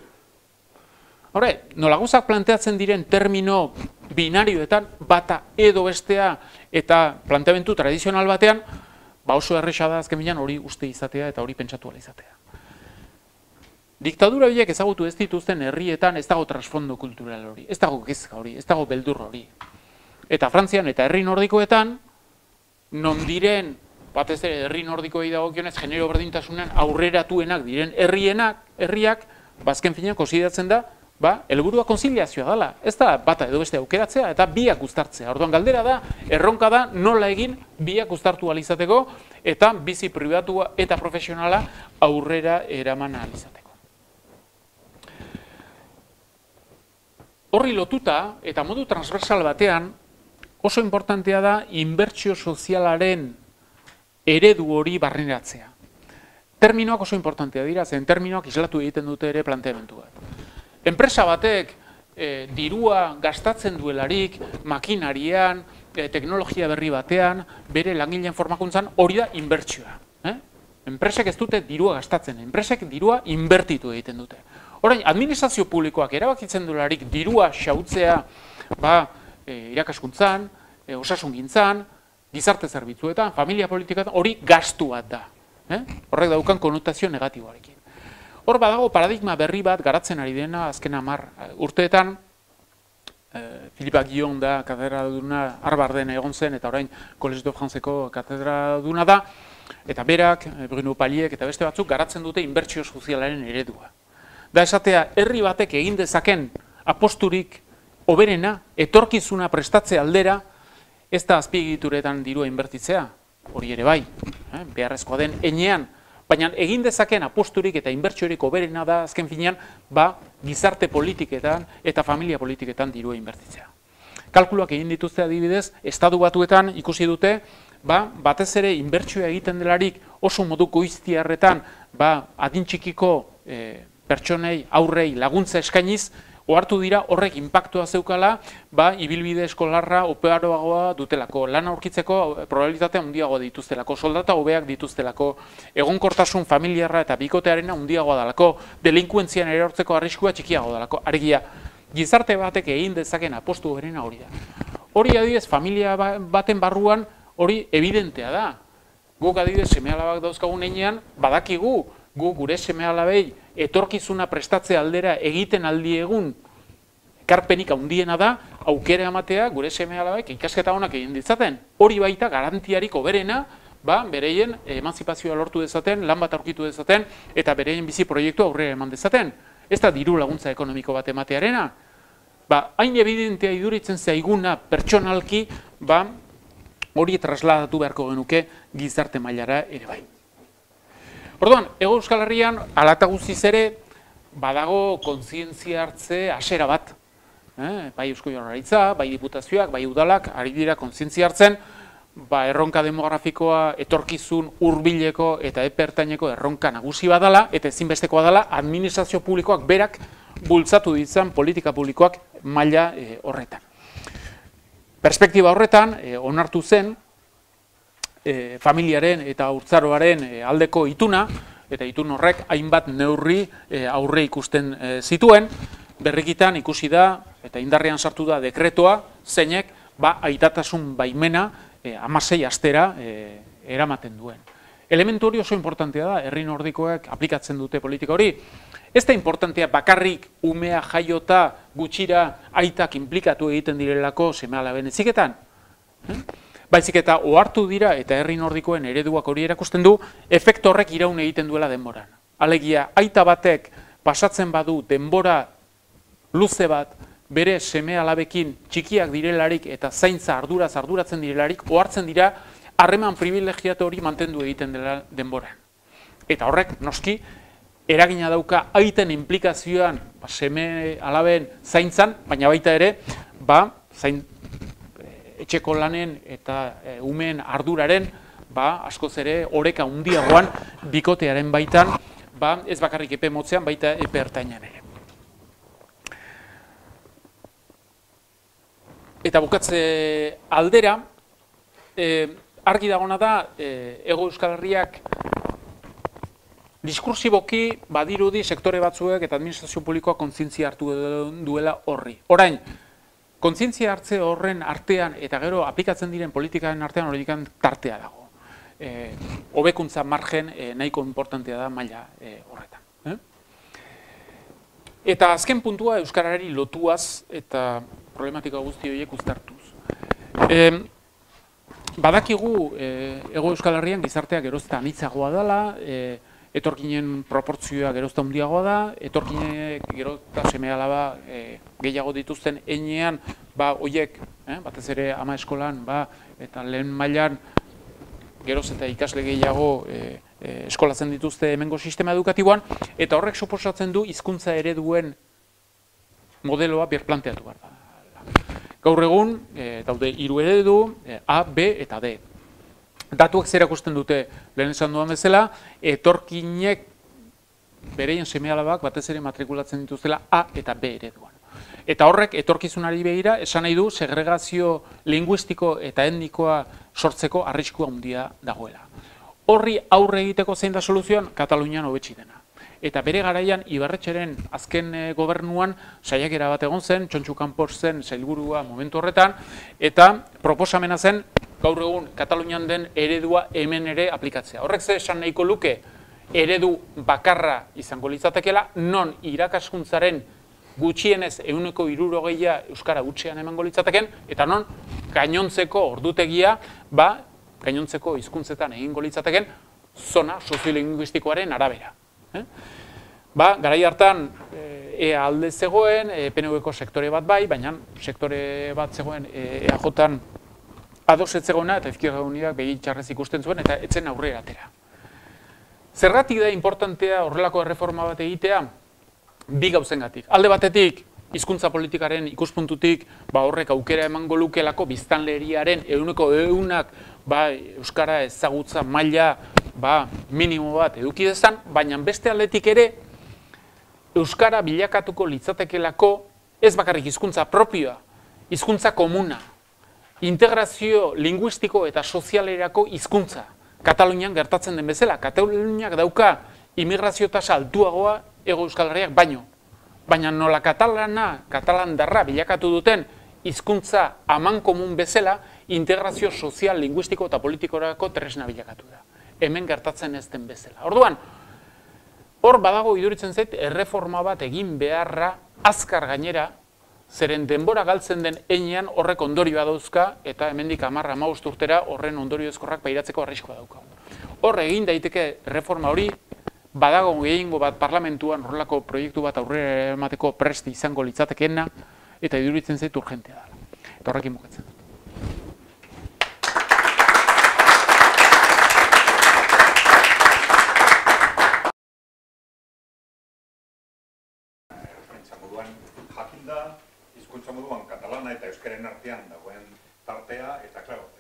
Horre, nola gauzak planteatzen diren termino binarioetan bata edo bestea eta planteamendu tradizional batean, oso erresa da azken bilan hori uste izatea eta hori pentsatu ala izatea. Diktadura horiek ezagutu ez dituzten herrietan ez dago trasfondo kultural hori, ez dago kezka hori, ez dago beldur hori. Eta Frantzian eta herri nordikoetan, non diren, batez ere herri nordikoei dagokionez, genero berdintasunean aurreratuenak diren herriak, azken finean konsideratzen da, helburua konziliazioa dela. Ez da bata edo beste aukeratzea eta biak uztartzea. Orduan galdera da, erronka da nola egin biak uztartu ahal izateko eta bizi pribatua eta profesionala aurrera eraman ahal izateko. Horri lotuta eta modu transversal batean oso importantea da inbertsio sozialaren eredu hori barneratzea. Terminoak oso importantea dira, zen terminoak islatu egiten dute ere planteamendu bat. Enpresa batek dirua gastatzen duelarik, makinarian, teknologia berri batean, bere langileen formakuntzan, hori da inbertsioa. Enpresek ez dute dirua gastatzen, enpresek dirua inbertitu egiten dute. Orain, administrazio publikoak erabakitzen duelarik dirua xautzea irakaskuntzan, osasungintzan, gizarte zerbitzuetan, familia politiketan, hori gastu bat da. Horrek daukan konotazio negatiboarekin. Hor badago paradigma berri bat garatzen ari dena azken 10 urteetan, Philippe Aguillon da katedraduna Harvarden egon zen eta orain Collège de Franceko katedraduna da, eta berak, Bruno Palliek eta beste batzuk garatzen dute inbertsio sozialaren eredua. Da esatea, herri batek egin dezaken aposturik hoberena, etorkizuna prestatze aldera, ez da azpiegituretan dirua inbertitzea, hori ere bai, beharrezkoa den enean, baina egin dezaken aposturik eta inbertsiorik hoberena da azken finean, gizarte politiketan eta familia politiketan dirua inbertitzea. Kalkuluak egin dituzte adibidez, Estatu Batuetan ikusi dute, batez ere inbertsioa egiten delarik oso modu goiztiarretan, adin txikiko pertsonei, aurrei laguntza eskainiz, ohartu dira horrek inpaktua zeukala, ibilbide eskolarra oparoagoa dutelako, lana aurkitzeko probabilitatea handiagoa dituztelako, soldata hobeak dituztelako, egonkortasun familiarra eta bikotearena handiagoa dalako, delinkuentzian erortzeko arriskua txikiagoa dalako, argia, gizarte batek egin dezaken apostu berena hori da. Hori adibidez, familia baten barruan hori evidentea da. Guk adibidez seme-alabak dauzkagun heinean, badakigu, gure seme-alabei etorkizuna prestatze aldera egiten aldiegun ekarpenik handiena da, aukera ematea gure seme-alabek ikasketa honak egin ditzaten. Hori baita garantiarik hoberena, bereien emantzipazioa lortu dezaten, lan bat aurkitu dezaten, eta bereien bizi proiektu aurrera eman dezaten. Ez da diru laguntza ekonomiko bat ematearena. Hain evidentea iduritzen zaiguna pertsonalki, hori trasladatu beharko genuke gizarte mailara ere bai. Orduan, Hego Euskal Herrian, hala eta guztiz ere, badago kontzientzia hartze hasera bat. bai Eusko Jaurlaritza, bai diputazioak, bai udalak, ari dira kontzientzia hartzen, erronka demografikoa etorkizun hurbileko eta epe ertaineko erronka nagusi badala, eta ezinbestekoa dela administrazio publikoak berak bultzatu ditzan politika publikoak maila horretan. Perspektiba horretan, onartu zen, familiaren eta haurtzaroaren aldeko ituna, eta itun horrek hainbat neurri aurre ikusten zituen, berrikitan ikusi da, eta indarrean sartu da dekretoa, zeinek aitatasun baimena 16 astera eramaten duen. Elementu hori oso importantea da, herri nordikoek aplikatzen dute politika hori. Ez da importantea bakarrik umea jaiota gutxira aitak inplikatu egiten direlako seme-alaben heziketan. Baizik eta ohartu dira eta herri nordikoen ereduak hori erakusten du, efektu horrek iraun egiten duela denboran. Alegia, aita batek pasatzen badu denbora luze bat, bere seme-alabekin txikiak direlarik eta zaintza arduratzen direlarik, ohartzen dira harreman privilegiatu hori mantendu egiten dela denboran. Eta horrek, noski, eragina dauka aiten implikazioan seme-alaben zaintzan, baina baita ere, etxeko lanen eta umeen arduraren, askoz ere, oreka handiagoan bikotearen baitan, ez bakarrik epe motzean, baita epe ertainan ere. Eta bukatze aldera, argi dagona da, Hego Euskal Herriak diskursiboki badirudi sektore batzuek eta administrazio publikoa kontzientzia hartu duela horri. Orain, kontzientzia hartze horren artean eta gero aplikatzen diren politikaren artean horikan tartea dago. Hobekuntza margen nahiko importantea da maila horretan. Eta azken puntua euskarari lotuaz eta problematika guzti horiek uztartuz. Badakigu Hego Euskal Herrian gizarteak gerozta anitzagoa dela, etorkinen proportzioa gerozta handiagoa da, etorkinek gerozta seme-alaba gehiago dituzten heinean, horiek, batez ere ama eskolan, eta lehen mailan geroz eta ikasle gehiago eskolatzen dituzte hemengo sistema edukatiboan, eta horrek suposatzen du hizkuntza ereduen modeloa birplanteatu behar da. Gaur egun, daude 3 eredu, A, B eta D. Datuak zer erakusten dute lehen esan duan bezala, etorkinek bereien seme-alabak batez ere matrikulatzen dituztela A eta B ereduan. Eta horrek etorkizunari begira esan nahi du segregazio linguistiko eta etnikoa sortzeko arriskua handia dagoela. Horri aurre egiteko zein da soluzioan, Katalunian hobetsi dena. Eta bere garaian Ibarretxeren azken gobernuan saiakera bat egon zen, Txontxu Kanpos zen sailburua momentu horretan, eta proposamena zen gaur egun Katalunian den eredua hemen ere aplikatzea. Horrek ze esan nahiko luke eredu bakarra izango litzatekeela, non irakaskuntzaren gutxienez 60% euskara gutxean emango litzateken, eta non gainontzeko ordutegia, gainontzeko hizkuntzetan egingo litzateken zona soziolinguistikoaren arabera. Garai hartan EA alde zegoen, PNV-ko sektore bat bai, baina sektore bat zegoen EAJ-an ados ez zegoena eta Izquierda Unidak begitxarrez ikusten zuen eta etzen aurrera atera. Zergatik da importantea horrelako erreforma bat egitea? Bi gauzengatik. Alde batetik, hizkuntza politikaren ikuspuntutik horrek aukera emango lukelako biztanleriaren 100% euskara ezagutza maila minimo bat eduki dezan, baina beste aldetik ere euskara bilakatuko litzatekelako ez bakarrik hizkuntza propioa, hizkuntza komuna, integrazio linguistiko eta sozialerako hizkuntza. Katalunian gertatzen den bezala, Kataluniak dauka immigrazio tasa altuagoa Hego Euskal Herriak baino. Baina nola katalandarra bilakatu duten hizkuntza aman komun bezala, integrazio sozial, linguistiko eta politikorako tresna bilakatu da. Hemen gertatzen ez den bezala. Orduan, hor badago iduritzen zait, erreforma bat egin beharra azkar gainera, zeren denbora galtzen den heinean horrek ondorioa dauzka, eta hemendik 10-15 urtera horren ondorio ezkorrak pairatzeko arriskoa dauka. Hor egin daiteke reforma hori, badago gehiengo bat parlamentuan horrelako proiektu bat aurrera emateko prest izango litzatekeena, eta iduritzen zait urgentea da. Eta horrekin bukatzen. Jakinda, hizkuntza dagoen tartea, eta, klaro,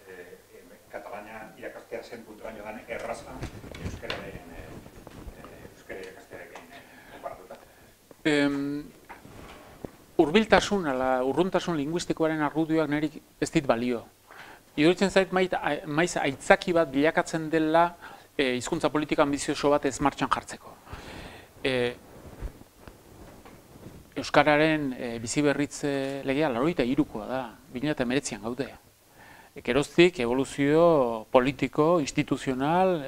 Katalania irakastea zen puntuaino dan erraza euskararen ikastearekin konparatuta. Hurbiltasun, urruntasun linguistikoaren argudioak niri ez dit balio. Iruditzen zait maiz aitzaki bat bilakatzen dela hizkuntza politika ambizioso bat ez martxan jartzeko. Euskararen biziberritze legea 83koa da, 2019an gaude. Geroztik evoluzio politiko, instituzional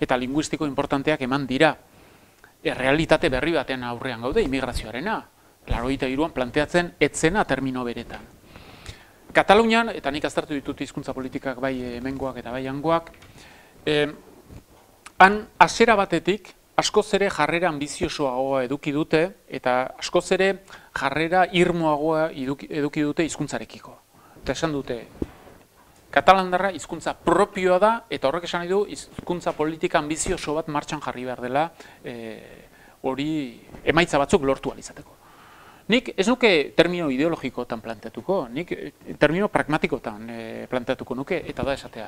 eta linguistiko importanteak eman dira. Errealitate berri baten aurrean gaude, immigrazioarena. 83an planteatzen etzena termino beretan. Katalunian, eta nik aztertu ditut hizkuntza politikak bai hemengoak eta bai hangoak, han hasiera batetik askoz ere jarrera ambiziosoagoa eduki dute eta askoz ere jarrera irmoagoa eduki dute hizkuntzarekiko. Eta esan dute, katalandarra hizkuntza propioa da eta horrek esan nahi du hizkuntza politika ambizioso bat martxan jarri behar dela hori emaitza batzuk lortu ahal izateko. Nik ez nuke termino ideologikotan planteatuko, nik termino pragmatikotan planteatuko nuke, eta da esatea.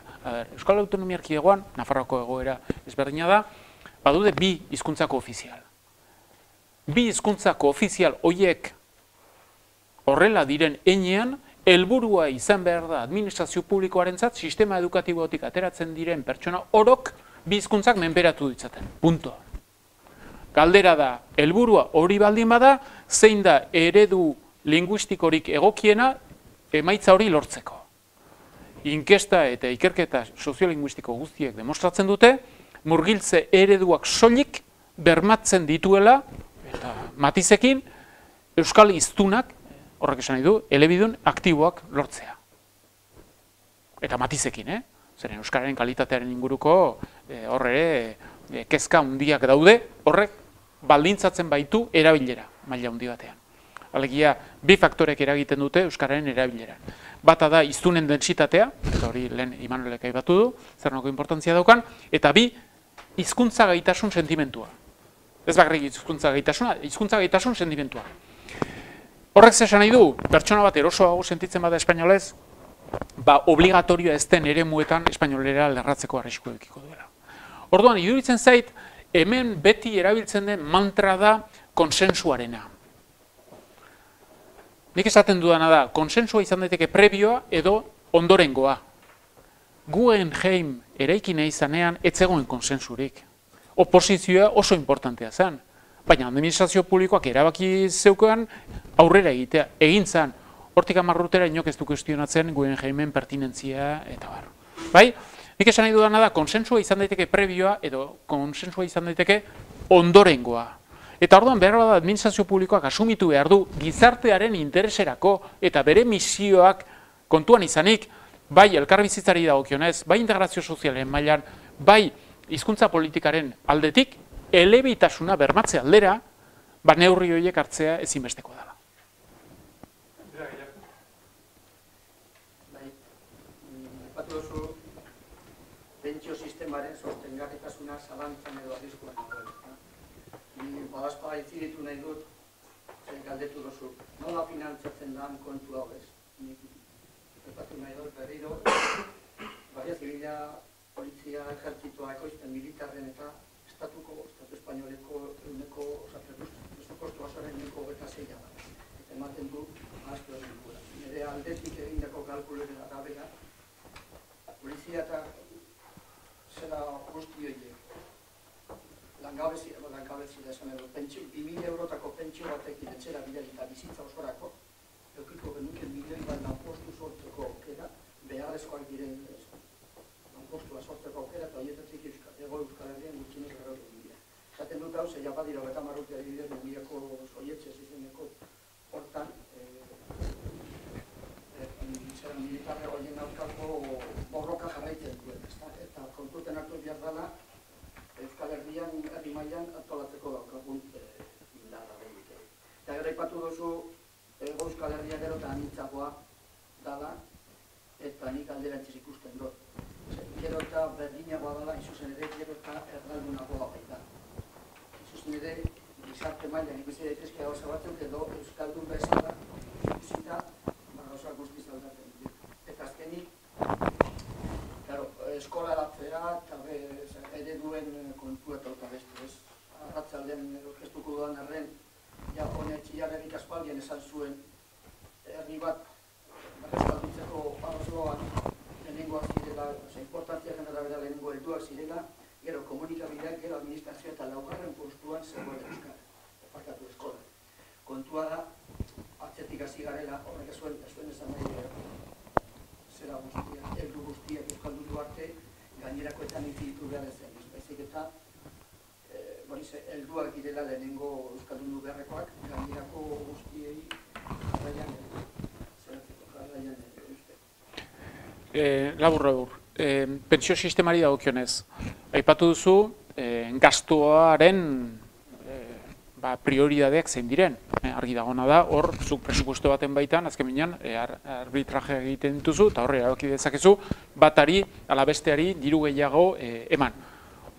Euskal Autonomia Erkidegoan, Nafarroako egoera ezberdina da, badude bi hizkuntzako ofizial. Bi hizkuntzako ofizial horiek horrela diren heinean, helburua izan behar da administrazio publikoarentzat sistema edukatibotik ateratzen diren pertsona orok bi hizkuntzak menperatu ditzaten. Punto. Galdera da, helburua hori baldin bada, zein da eredu linguistikorik egokiena emaitza hori lortzeko. Inkesta eta ikerketa soziolinguistiko guztiek demostratzen dute, murgiltze ereduak soilik bermatzen dituela, eta matizekin, euskal hiztunak, horrek esan nahi du, elebidun aktiboak lortzea. Eta matizekin, Zeren euskararen kalitatearen inguruko horre kezka handiak daude, horrek baldintzatzen baitu erabilera maila handi batean. Alegia, bi faktorek eragiten dute euskararen erabilera. Bata da hiztunen dentsitatea, eta hori lehen Imanolek aipatu du, zer nolako inportantzia daukan, eta bi, hizkuntza gaitasun sentimentua. Ez bakarrik hizkuntza gaitasuna, hizkuntza gaitasun sentimentua. Horrek esan nahi du, pertsona bat erosoago sentitzen bada espainolez, obligatorioa ez den eremuetan espainolera lerratzeko arrisku edukiko duela. Orduan, iduritzen zait, hemen beti erabiltzen den mantra da konsensuarena. Nik esaten dudana da, konsensua izan daiteke prebioa edo ondorengoa. Guggenheim eraikina izanean ez zegoen konsensurik. Oposizioa oso importantea zen. Baina administrazio publikoak erabaki zeukan aurrera egitea. Egin zen, hortik 10 urtera inok ez du kuestionatzen Guggenheimen pertinentzia eta bar. Bai? Nik esan nahi dudana da, konsensua izan daiteke prebioa edo konsensua izan daiteke ondorengoa. Eta orduan behar bada administrazio publikoak asumitu behar du gizartearen intereserako eta bere misioak kontuan izanik, bai elkarbizitzari dagokionez, bai integrazio sozialen mailan, bai hizkuntza politikaren aldetik, elebitasuna bermatze aldera, neurri horiek hartzea ezinbesteko dela. Pentsio sistemaren sostengarritasuna zalantzan edo arriskuan dagoela. Badazpada itziritu nahi dut, galdetu duzu, nola finantzatzen da kontu hau ez? Epatu nahi dut berriro, Guardia Zibila, Polizia, Ejertzitoa, ekoizpen militarren eta Estatu espainoleko presupuesto osoaren 26 da. Eta ematen du, ahaztu egin gura. Nire aldetik egindako kalkuloren arabera, Polizia eta zera guzti horiek, langabezi da esan edo, 2.000 eurotako pentsio batekin etxera bidali eta bizitza osorako, eukiko genuke milioi bat lanpostu sortzeko aukera, beharrezkoak diren lanpostua sortzeko aukera, eta horietatik ego Euskal Herrian gutxinek errautu dira. Zaten dut hau, zeia badira 30 urte adibidez, Mendiako Soietxez izeneko hortan, militarre horien aurkako borroka jarraitzen duen, eta kontuten hartu behar dela Euskal Herrian herri mailan antolatzeko daukagun indarra behirik. Eta gero aipatu duzu Euskal Herria gero eta anitzagoa dela, eta nik alderantziz ikusten dut. Gero eta berdinagoa dela, izuzen ere, gero eta erdaldunagoa baita. Izuzen ere, gizarte mailan ikusi daitezke gauza batzuk edo Euskaldun bezala ikusita gauza guztiz aldatzen. bermatzea eta ereduen kontua eta beste ez. Arratzalden orkestuko dudan arren, ja honetxiarrenik aspaldian esan zuen herri bat berrezkalditzeko arrozoan lehenengoak zirela, importantziaren arabera lehenengo helduak zirela, gero komunikabideak, gero administrazioa eta laugarren postuan zegoen euskara, parkatu eskola. Kontua da, atzetik hasi garela, horrek zuen esan nahi zera guztia, heldu guztiak euskaldundu arte, gainerakoetan intzitu behar ezen. Baizik eta, helduak direla lehenengo euskaldundu beharrekoak, gainerako guztiei jarraian Labur. Pentsio sistemari dagokionez. Aipatu duzu, gastuaren prioridadeak zein diren. Argi dagona da, hor, zuk presupuesto baten baitan, azken binean, arbitraje egiten dituzu, eta horre erabaki dezakezu, batari, ala besteari, diru gehiago eman.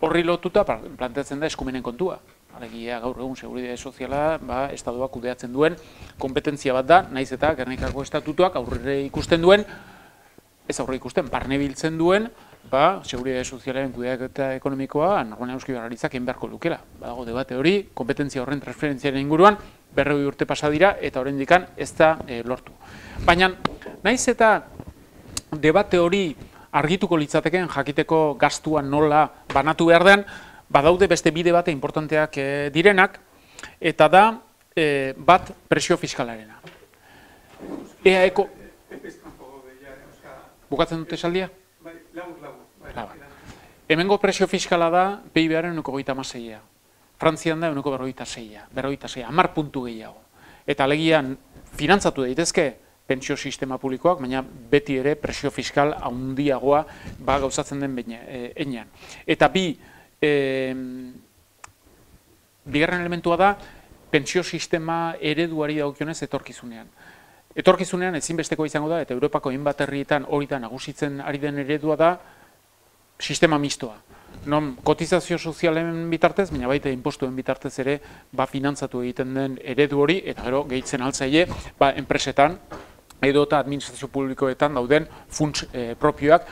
Horri lotuta, planteatzen da eskumenen kontua. Alegia gaur egun seguridade soziala, estaduak kudeatzen duen kompetentzia bat da, naiz eta Gernikako estatutuak aurre ikusten duen, ez aurre ikusten, barne biltzen duen, seguridade sozialaren kudeaketa ekonomikoa, normalean Eusko Jaurlaritzak egin beharko lukela. Badago debate hori, kompetentzia horren transferentziaren inguruan, 40 urte pasa dira, eta oraindik ez da lortu. Baina, naiz eta debate hori argituko litzateken jakiteko gastua nola banatu behar den, badaude beste bide bate importanteak direnak, eta da bat presio fiskalarena. EAeko... Bukatzen dute esaldia? Labur. Hemengo presio fiskala da PIB-aren 1,26. Frantzian da 1,46. 10 puntu gehiago. Eta alegian finantzatu daitezke pentsio sistema publikoak, baina beti ere presio fiskal handiagoa gauzatzen den heinean. Eta bigarren elementua da pentsio sistema ereduari dagokionez etorkizunean. Etorkizunean ezinbesteko izango da, eta Europako hainbat herrietan hori da nagusitzen ari den eredua da sistema mistoa. Non kotizazio sozialen bitartez, baina baita inpostuen bitartez ere finantzatu egiten den eredu hori, eta gero gehitzen altzaile enpresetan edo eta administrazio publikoetan dauden funts propioak,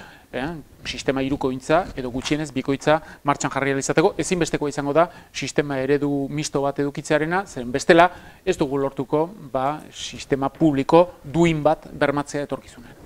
sistema hirukoitza edo gutxienez bikoitza martxan jarri ahal izateko, ezinbesteko izango da sistema eredu misto bat edukitzearena, zeren bestela ez dugu lortuko sistema publiko duin bat bermatzea etorkizunean.